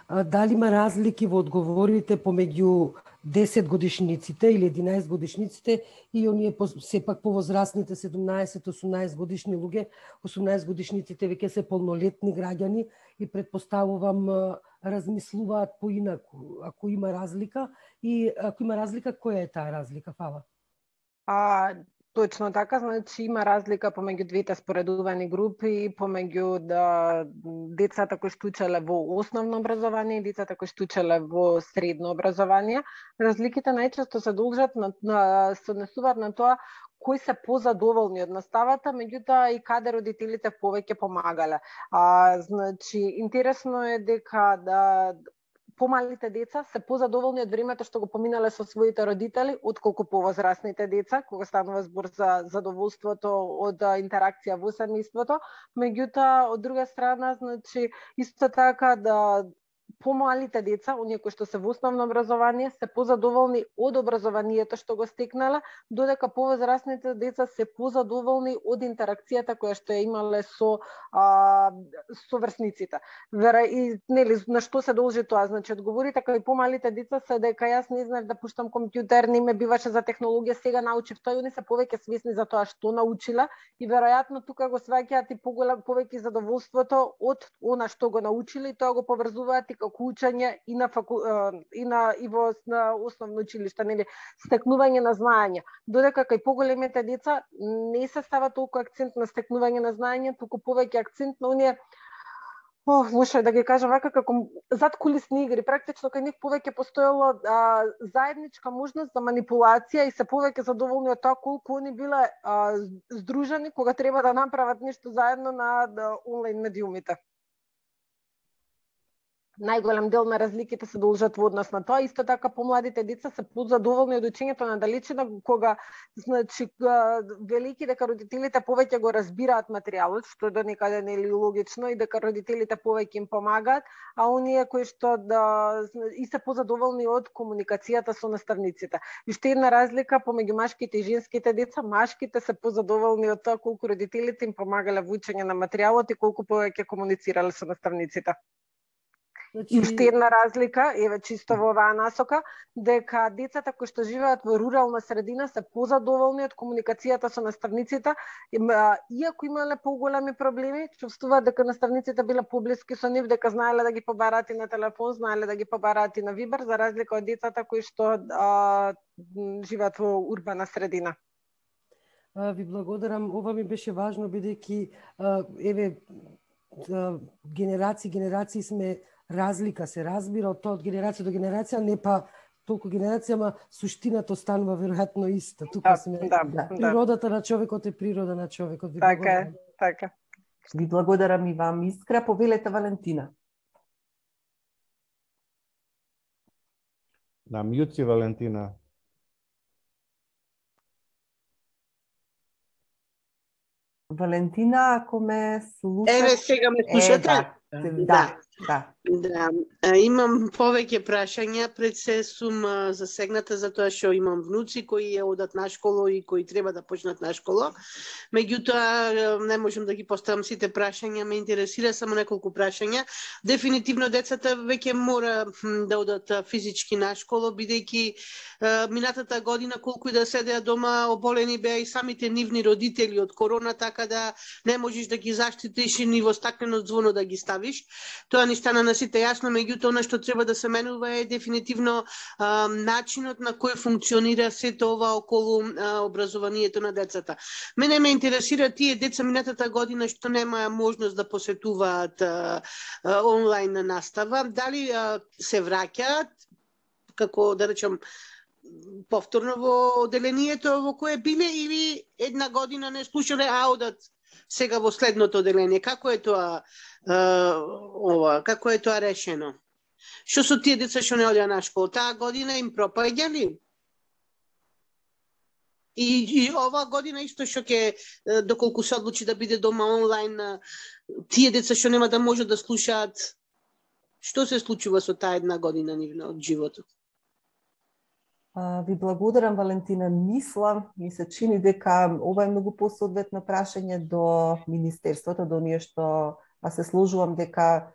дали има разлики во одговорите помеѓу 10 годишниците или 11 годишниците и оние сепак повозрастните 17-18 годишни луѓе. 18 годишниците веќе се полнолетни граѓани и предпоставувам размислуваат поинаку. Ако има разлика и ако има разлика, која е таа разлика? Фала. Точно така, значи има разлика помеѓу двете споредувани групи, помеѓу децата кои што учеле во основно образование и децата кои што учеле во средно образование. Разликите најчесто се должат се однесуваат на тоа кои се позадоволни од наставата, меѓутоа и каде родителите повеќе помагале. Значи интересно е дека помалите деца се позадоволни од времето што го поминале со своите родители, отколку повозрасните деца, кога станува збор за задоволството од интеракција во семејството. Меѓутоа, од друга страна, значи, исто така помалите деца, оние кои што се во основно образование, се позадоволни од образованието што го стекнале, додека повозрасните деца се позадоволни од интеракцијата која што ја имале со врсниците. И на што се должи тоа? Значи, одговорите кај помалите деца се дека јас не знаев да пуштам компјутер, не ме биваше за технологија, сега научив тоа, и они се повеќе свесни за тоа што научила и веројатно тука го сваќаат и повеќе задоволството од она што го научили и тоа го поврзуваат и како учење и во основно училиште, нели, стекнување на знаење. Додека кај поголемите деца не се става толку акцент на стекнување на знаење, туку повеќе акцент на оние може да ги кажам вака, како задкулисни игри. Практично кај нив повеќе постоело заедничка можност за манипулација и се повеќе задоволни од тоа колку они биле здружени кога треба да направат нешто заедно на онлайн медиумите. Најголем дел на разликите се должат во однос на тоа. Исто така помладите деца се позадоволни од учењето на далечина, кога значи велики дека родителите повеќе го разбираат материјалот, што до некаде не е логично, и дека родителите повеќе им помагаат, а оние кои што и се позадоволни од комуникацијата со наставниците. И уште една разлика помеѓу машките и женските деца, машките се позадоволни од тоа колку родителите им помагале во учење на материјалот и колку повеќе комуницирале со наставниците. И уште една разлика, еве чисто во оваа насока, дека децата кои што живеат во рурална средина се позадоволни од комуникацијата со наставниците, иако имале поголеми проблеми, чувствуваат дека наставниците биле поблиски со нив, дека знаеле да ги побараат и на телефон, знаеле да ги побараат и на Вибер, за разлика од децата кои што живеат во урбана средина. Ви благодарам, ова ми беше важно, бидејќи еве генерации сме разлика, се разбира од тоа од генерација до генерација, не па толку генерација, ама суштината останува веројатно иста. Тука сме природата на човекот е природа на човекот. Така е, така. Ви благодарам и вам, Искра. Повелете, Валентина. На мјут си, Валентина. Валентина, ако ме слушате... Еве, сега ме слушате? Да. Имам повеќе прашања, пред се сум засегната затоа што имам внуци кои одат на школа и кои треба да почнат на школа. Меѓутоа не можам да ги поставам сите прашања, ме интересира само неколку прашања. Дефинитивно децата веќе мора да одат физички на школа, бидејќи минатата година колку и да седеа дома оболени беа и самите нивни родители од корона, така да не можеш да ги заштитиш и ни во стаклено звоно да ги ставиш. Тоа ни стана на сите јасно, меѓутоа она што треба да се менува е дефинитивно начинот на кој функционира сето ова околу образованието на децата. Мене ме интересира тие деца минатата година што немаа можност да посетуваат онлайн настава, дали се враќаат, како да речем, повторно во оделението во кое биле, или една година не слушале, а одат сега во следното оделение? Како е тоа како е тоа решено? Што со тие деца што не одеа на школа? Таа година им пропаѓа ли? И ова година исто што ќе, доколку се одлучи да биде дома онлайн, тие деца што нема да можат да слушаат, што се случува со таа една година нивна од животот? Ви благодарам, Валентина. Ми се чини дека ова е многу посоодветно прашање до Министерството, до ние што се сложувам дека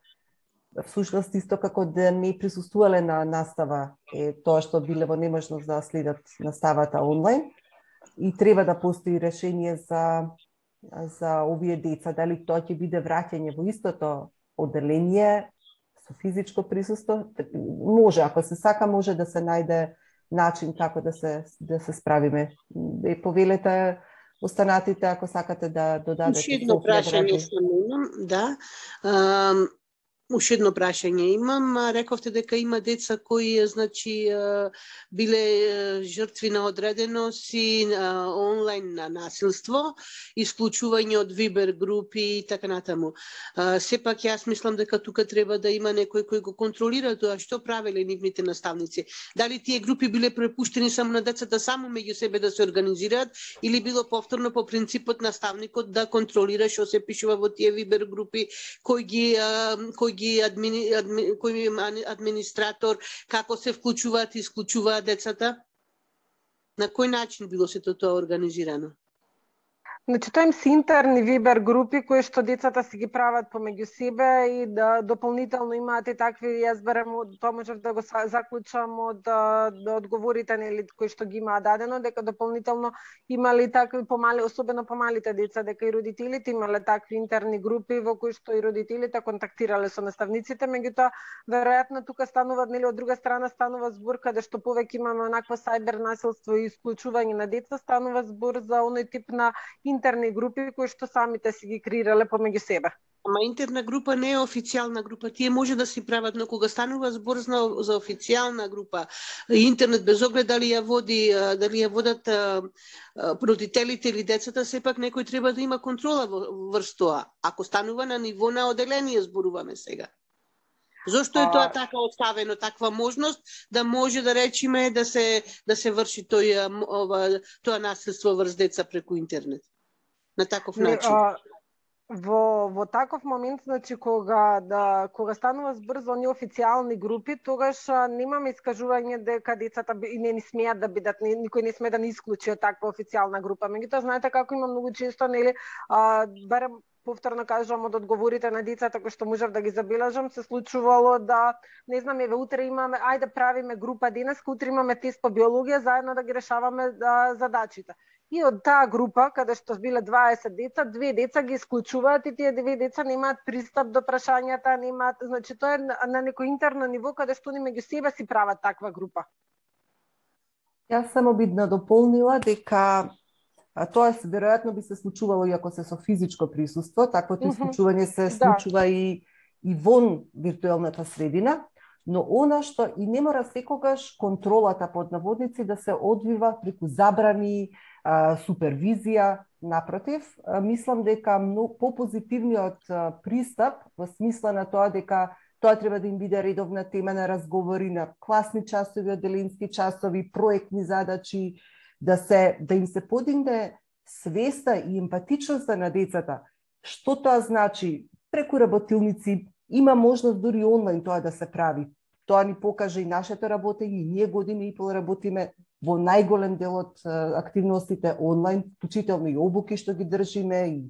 всушност исто како да не присуствувале на настава е тоа што биле во неможност да следат наставата онлайн и треба да постои решение за овие деца. Дали тоа ќе биде враќање во истото оделение со физичко присуство? Може, ако се сака, може да се најде начин како да се справиме. Повелете останатите ако сакате да додадете. Уште едно прашање имам, да. Уште едно прашање имам. Рековте дека има деца кои значи биле жртви на одреденост и онлайн на насилство, исклучување од Вибер групи и така натаму. Сепак јас мислам дека тука треба да има некој кој го контролира тоа што правеле нивните наставници. Дали тие групи биле препуштени само на децата само меѓу себе да се организираат или било повторно по принципот наставникот да контролира што се пишува во тие Вибер групи, кој администратор, како се вклучуваат и исклучуваат децата? На кој начин било сето тоа организирано? Значи, тоа им се интерни Вибер групи кои што децата си ги прават помеѓу себе и да дополнително имаат и такви, јас берем, тоа можев да го заклучам од одговорите нели кои што ги имаа дадено, дека дополнително имали такви помали, особено помалите деца, дека и родителите имале такви интерни групи во кои што и родителите контактирале со наставниците, меѓутоа веројатно тука станува нели од друга страна станува збор каде што повеќе имаме онакво сајбер насилство и исклучување на деца, станува збор за оној тип на интерни групи кои што самите си ги креирале помеѓу себе. Ама интерна група не е официјална група, тие може да си прават, но кога станува збор за официјална група, интернет без оглед дали ја водат родителите или децата, сепак некој треба да има контрола врз тоа. Ако станува на ниво на оделение, зборуваме сега. Зошто е тоа така оставено, таква можност да може да речеме да се врши тоа насилство врз деца преку интернет? На таков начин. Во таков момент, значи кога станува збор за оние официјални групи, тогаш немаме искажување дека децата и не смеат да бидат, никој не смее да не исклучи од таква официјална група. Меѓутоа, знаете како има многу често, нели, барем повторно кажам од одговорите на децата кои што можев да ги забележам, се случувало да, не знам, еве утре имаме, ајде правиме група денеска, утре имаме тест по биологија, заедно да ги решаваме задачите. И од таа група, каде што биле 20 деца, 2 деца ги исклучуваат и тие 2 деца немаат пристап до прашањата, немаат, значи тоа е на некој интерно ниво каде што они меѓу себе си прават таква група. Јас само би надополнила дека тоа веројатно би се случувало и ако се со физичко присуство, таквото исклучување се случува и вон виртуелната средина, но она што и не мора секогаш контролата под наводници да се одвива преку забрани, супервизија, напротив, мислам дека попозитивниот пристап во смисла на тоа дека тоа треба да им биде редовна тема на разговори, на класни часови, оделенски часови, проектни задачи, да им се подигне свеста и емпатичноста на децата. Што тоа значи? Преку работилници има можност дури онлайн тоа да се прави. Тоа ни покажа и нашето работење, и ние години и пол работиме во најголем дел од активностите онлайн, вклучително и обуки што ги држиме,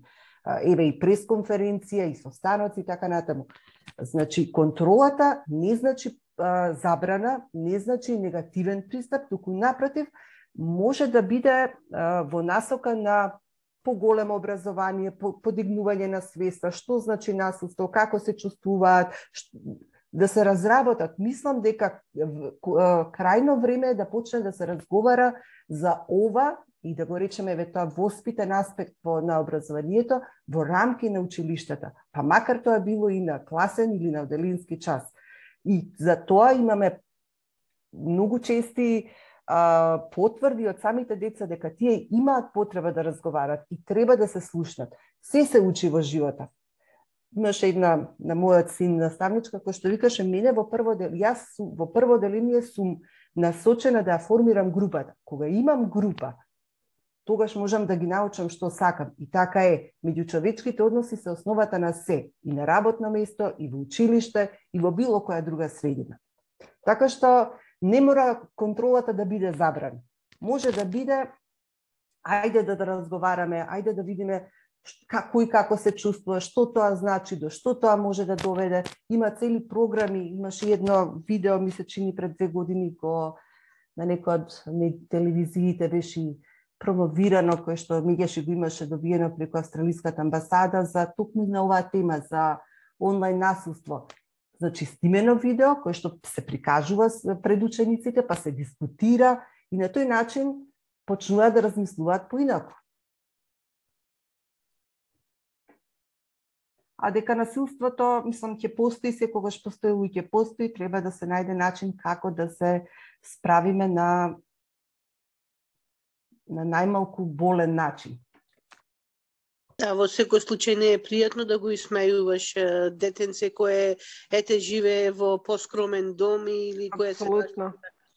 и пресконференција, и состаноци и така натаму. Значи, контролата не значи забрана, не значи негативен пристап, туку напротив, може да биде во насока на поголемо образование, подигнување на свеста, што значи насилство, како се чувствуваат, да се разработат. Мислам дека крајно време е да почне да се разговара за ова и да го речеме тоа воспитен аспект на образованието во рамки на училиштата, па макар тоа било и на класен или на оделенски час. И за тоа имаме многу чести потврди од самите деца дека тие имаат потреба да разговарат и треба да се слушнат. Се учи во животот. Имаше една на мојот син наставничка која што викаше мене јас во прво деление сум насочена да ја формирам групата. Кога имам група, тогаш можам да ги научам што сакам. И така е. Меѓучовечките односи се основата на се, и на работно место, и во училиште, и во било која друга средина. Така што не мора контролата да биде забрана. Може да биде, ајде да разговараме, ајде да видиме како и како се чувствува, што тоа значи, до што тоа може да доведе. Има цели програми, имаше едно видео, ми се чини пред 2 години, на некој од телевизиите беше промовирано, кое што меѓаш го имаше добиено преку Австралиската амбасада за токму на оваа тема, за онлайн насилство. Значи, снимено видео, кое што се прикажува пред учениците, па се дискутира и на тој начин почнуваат да размислуваат поинаку. а дека насилството, мислам, ќе постои, секогаш постои и ќе постои, треба да се најде начин како да се справиме на најмалку болен начин. Да, во секој случај не е пријатно да го исмејуваш детенце кое живее во поскромен дом или кое се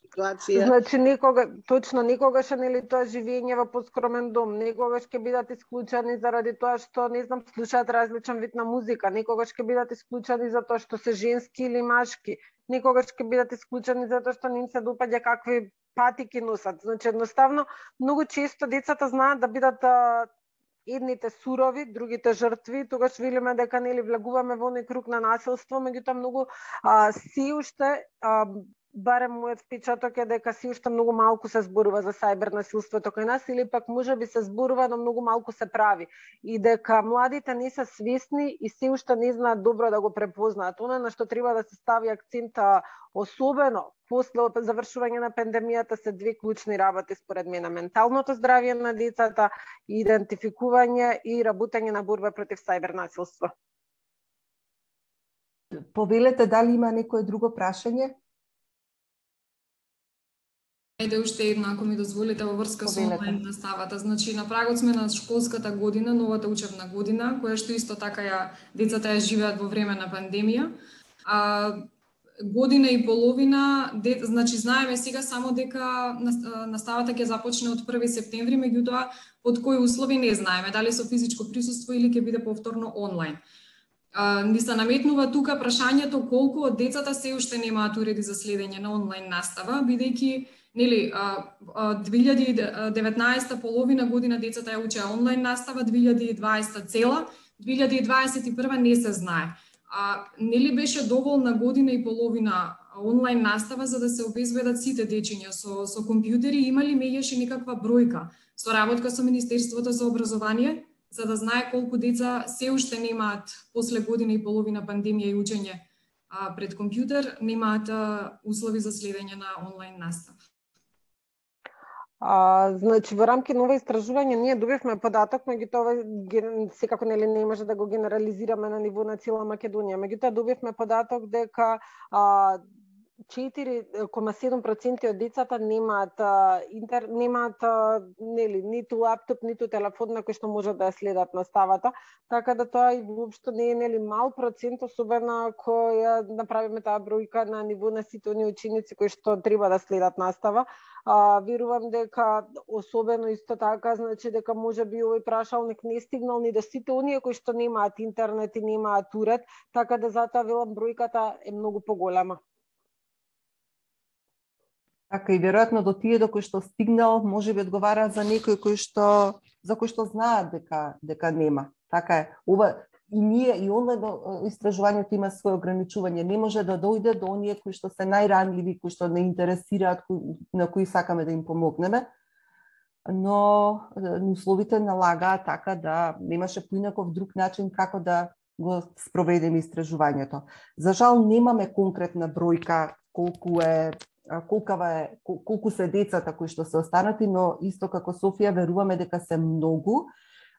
ситуација. Значи никогаш нели тоа живење во поскромен дом, никогаш ќе бидат исклучени заради тоа што не знам слушаат различен вид на музика, никогаш ќе бидат исклучени за тоа што се женски или машки, никогаш ќе бидат исклучени за тоа што не им се допаѓа какви патики носат. Значи едноставно многу често децата знаат да бидат едните сурови, другите жртви, тогаш велиме дека нели влегуваме во оној круг на насилство, меѓутоа многу се уште барем мојот впечаток е дека се уште многу малку се зборува за сајбер насилството кај нас или пак можеби се зборува, но многу малку се прави и дека младите не се свесни и се уште не знаат добро да го препознаат. Она на што треба да се стави акцент особено после завршување на пандемијата се две клучни работи според мене: менталното здравје на децата, идентификување и работење на борба против сајбер насилство. Повелете, дали има некое друго прашање? Ајде уште едно, ако ми дозволите, во врска со онлайн наставата. Значи, на прагот сме на школската година, новата учебна година, која што исто така децата ја живеат во време на пандемија. Година и половина, значи знаеме сега само дека наставата ќе започне од 1 септември, меѓутоа под кои услови не знаеме, дали со физичко присуство или ќе биде повторно онлайн. Ни се наметнува тука прашањето колку од децата се уште немаат уреди за следење на онлайн настава, бидејќи нели 2019 половина година децата ја учеа онлайн настава, 2020 цела, 2021 не се знае. Нели беше доволна година и половина онлайн настава за да се обезбедат сите дечиња со компјутери, имали меѓаш и некаква бројка со работка со Министерството за образование за да знае колку деца се уште немаат после година и половина пандемија и учење пред компјутер, немаат услови за следење на онлайн настава. Значи во рамки на ова истражување ние добивме податок, меѓутоа секако нели не може да го генерализираме на ниво на цела Македонија. Меѓутоа добивме податок дека 4,7% од децата немаат нели ниту лаптоп, ниту телефон на кој што можат да ја следат наставата, така да тоа и воопшто не е нели мал процент, особено ако ја направиме таа бројка на ниво на сите оние ученици кои што треба да следат настава. Верувам дека особено исто така, значи дека можеби овој прашалник не стигнал ни до сите оние кои што немаат интернет и немаат уред, така да затоа велам бројката е многу поголема. Така и веројатно до тие до кои што стигнал, можеби одговара за некои за кои што знаат дека нема. Така е. Ова и ние и онлайн истражувањето има своје ограничување. Не може да дојде до оние кои што се најранливи, кои што не интересираат, на кои сакаме да им помогнеме. Но условите налагаат така да немаше поинаков друг начин како да го спроведеме истражувањето. За жал немаме конкретна бројка колку се децата кои што се останати, но исто како Софија веруваме дека се многу.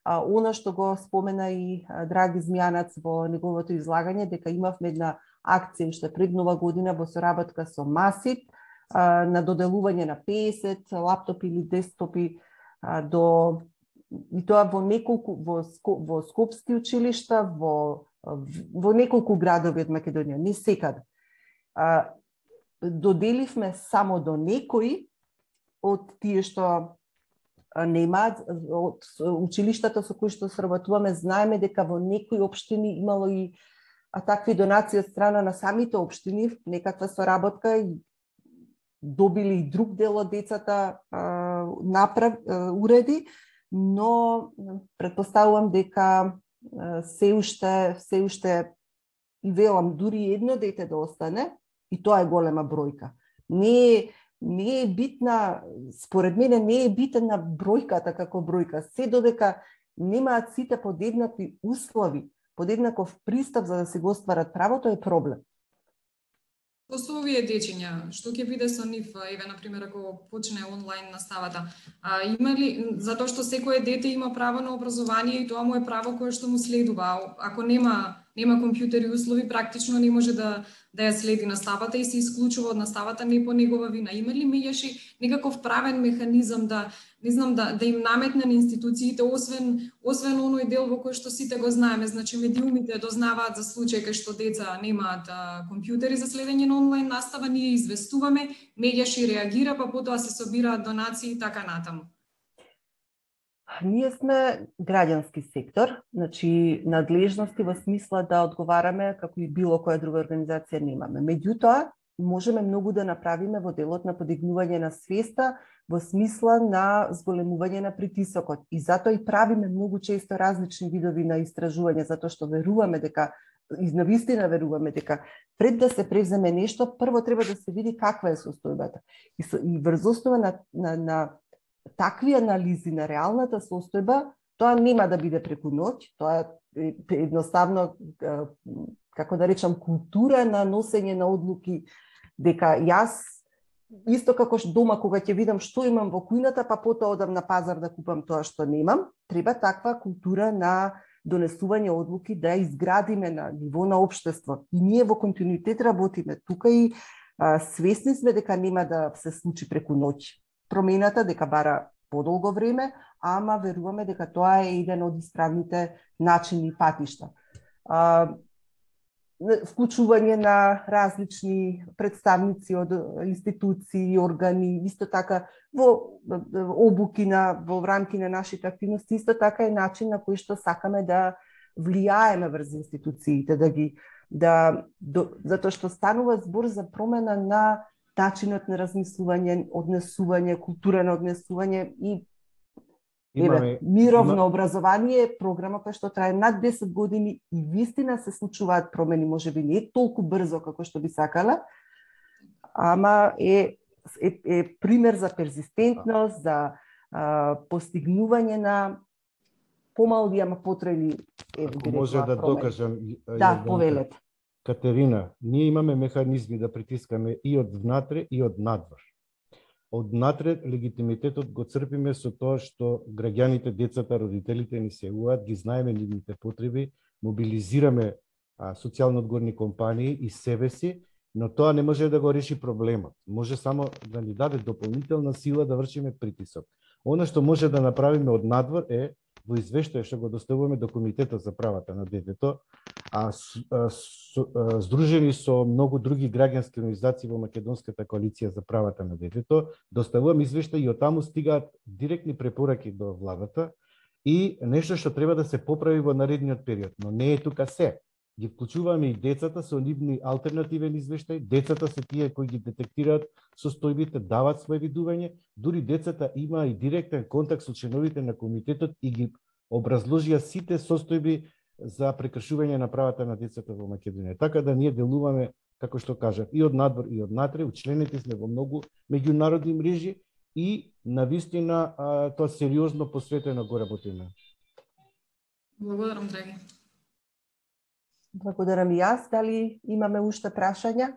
Она што го спомена и Драги Змјанац во неговото излагање, дека имавме една акција уште пред нова година во соработка со МАСИП на доделување на 50 лаптопи или десктопи и тоа во неколку во скопски училишта, во неколку градови од Македонија, не секаде. Доделивме само до некои од тие што немаат, од училиштата со кои што сработуваме, знаеме дека во некои општини имало и такви донации од страна на самите општини, некаква соработка и добили и друг дел од децата уреди, но претпоставувам дека се уште и велам дури едно дете да остане, и тоа е голема бројка. Не е битна, според мене не е битна бројката како бројка, се додека немаат сите подеднакви услови, подеднаков пристап за да се го остварат правото е проблем. Со овие дечиња, што ќе биде со нив, еве на пример ако почне онлайн наставата, има ли, затоа што секое дете има право на образование и тоа му е право кое што му следува, ако нема нема компјутери услови, практично не може да ја следи наставата и се исклучува од наставата не по негова вина. Има ли меѓаш некаков правен механизам да не знам да им наметне на институциите освен оној дел во кој што сите го знаеме, значи медиумите дознаваат за случаи кај што деца немаат компјутери за следење на онлайн настава, ние известуваме, меѓаш реагира, па потоа се собираат донации и така натаму. Ние сме граѓански сектор, значи надлежности во смисла да одговараме како и било која друга организација немаме. Меѓутоа, можеме многу да направиме во делот на подигнување на свеста, во смисла на зголемување на притисокот. И затоа и правиме многу често различни видови на истражување, затоа што веруваме дека, и навистина веруваме дека пред да се превземе нешто, прво треба да се види каква е состојбата. И врз основа на такви анализи на реалната состојба, тоа нема да биде преку ноќ, тоа е едноставно, како да речам, култура на носење на одлуки, дека јас, исто како дома, кога ќе видам што имам во кујната, па потоа одам на пазар да купам тоа што немам, треба таква култура на донесување одлуки да изградиме на ниво на општество. И ние во континуитет работиме тука и свесни сме дека нема да се случи преку ноќ промената, дека бара подолго време, ама веруваме дека тоа е еден од исправните начини и патишта. Вклучување на различни представници од институции, органи, исто така во обуки во рамки на нашите активности, исто така е начин на кој што сакаме да влијаеме врз институциите, затоа што станува збор за промена на начинот на размислување, однесување, култура на однесување и мировно образование е програма која што трае над 10 години и вистина се случуваат промени, можеби не толку брзо како што би сакала, ама е пример за перзистентност, за постигнување на помални, ама потрајни. Ако може да докажам, да, повелете. Катерина, ние имаме механизми да притискаме и од внатре и од надвор. Од натре легитимитетот го црпиме со тоа што граѓаните, децата, родителите ни се јавуваат, ги знаеме нивните потреби, мобилизираме социјално одговорни компании и себе си, но тоа не може да го реши проблемот. Може само да ни даде дополнителна сила да вршиме притисок. Она што може да направиме од надвор е во извештај што го доставуваме до Комитетот за правата на детето, здружени со многу други граѓански организации во Македонската коалиција за правата на детето, доставуваме извештај и оттаму стигаат директни препораки до владата и нешто што треба да се поправи во наредниот период, но не е тука се. Ги вклучуваме и децата со нивни алтернативен извештај, децата се тие кои ги детектираат состојбите, дават своje видување, дури децата има и директен контакт со членовите на комитетот и ги образложија сите состојби за прекршување на правата на децата во Македонија. Така да ние делуваме, како што кажав, и од надвор и од натре, учленети сме во многу меѓународни мрежи и навистина тоа сериозно посветено го работиме. Благодарам, драги. Благодарам и јас. Дали имаме уште прашања?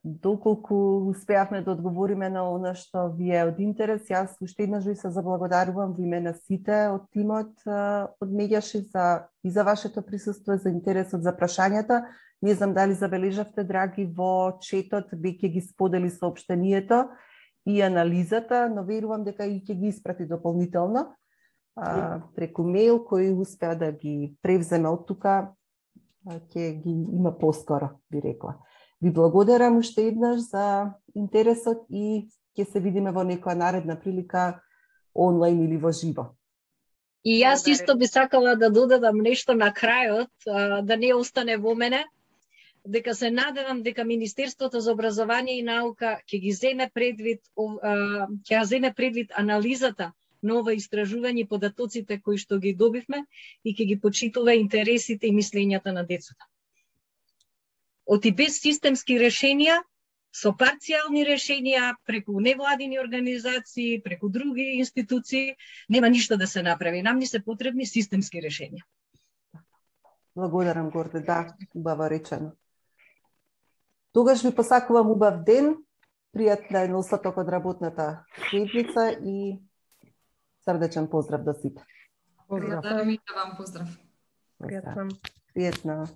Доколку успеавме да одговориме на она што ви е од интерес, јас уште еднаш ви се заблагодарувам во име на сите од тимот од Меѓаши и за вашето присуство, за интересот, за прашањата. Не знам дали забележавте, драги, во четот веќе ги сподели соопштението и анализата, но верувам дека и ќе ги испрати дополнително преку мејл, кој успеа да ги превземе од тука, ќе ги има поскоро, би рекла. Ви благодарам уште еднаш за интересот и ќе се видиме во некоја наредна прилика онлайн или во живо. И јас исто би сакала да додадам нешто на крајот, да не остане во мене, дека се надевам дека Министерството за образование и наука ќе ги земе предвид, ќе земе предвид анализата на ова истражување и податоците кои што ги добивме и ќе ги почитува интересите и мислењата на децата. Оти без системски решенија, со парцијални решенија, преку невладини организации, преку други институции, нема ништо да се направи. Нам ни се потребни системски решенија. Благодарам, Горде, да, убаво речено. Тогаш ви посакувам убав ден, пријатна е остаток од работната седмица и Срдечен поздрав до сите. Поздрав. Да, вам поздрав. Пријатно.